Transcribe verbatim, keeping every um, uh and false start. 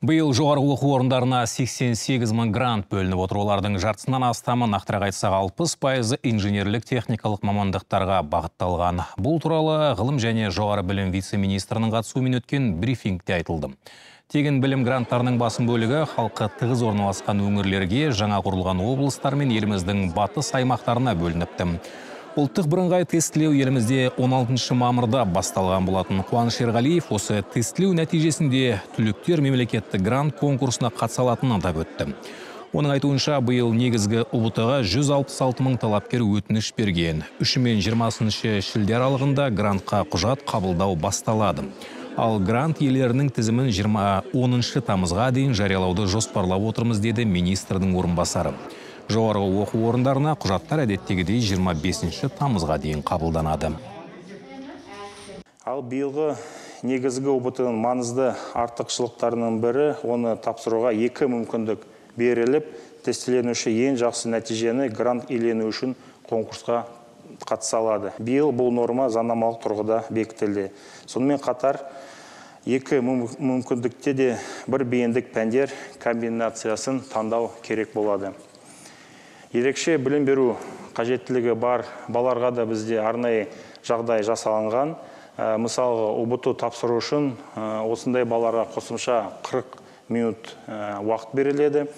Биыл жоғарғы оқу орындарына сексен сегіз мың грант бөлініп отыр. Олардың жартысынан астамы, нақтырақ айтсақ алпыс пайызы инженерлік техникалық мамандықтарға бағытталған. Бұл туралы ғылым және жоғары білім вице-министрінің қатысуымен өткен брифингте айтылды. Тегін білім гранттарының басым бөлігі халқы тығыз орналасқан өңірлерге, жаңа құрылған облыстар мен еліміздің батыс аймақтарына бөлініпті. Ұлттық бірыңғай тестілеу елімізде он алтыншы мамырда басталған болатын. Қуаныш Ерғалиев осы тестілеу нәтижесінде түлектер мемлекеттік грант конкурсына қатыса алатынын атап өтті. Оның айтуынша, биыл негізгі ұ бэ тэ-ға жүз алпыс алты мың талапкер өтініш берген. үші мен жиырмасыншы шілде аралығында грантқа құжат қабылдау басталады. Ал грант иелерінің тізімін жиырма оныншы тамызға дейін жариялауды жоспарлап отырмыз, деді министрдің орынбасары. Жоғарғы оқу орындарына құжаттар әдеттегідей жиырма бесінші тамызға дейін қабылданады. Ал биылғы негізгі ұ бэ тэ-ның маңызды артықшылықтарының бірі, оны тапсыруға екі мүмкіндік беріліп, тестіленуші ең жақсы нәтижені грант иелену үшін конкурсқа қатыса алады. Биыл бұл норма заңнамалық тұрғыда бекітілді. Сонымен қатар, екі мүмкіндікте де бір бейіндік пәндер комбинациясын таңдау керек болады. Ерекше білім беру қажеттілігі бар балаларға да бізде арнайы жағдай жасалынған. Мысалға, ұ бэ тэ тапсыру үшін осындай балаларға қосымша қырық минут уақыт беріледі.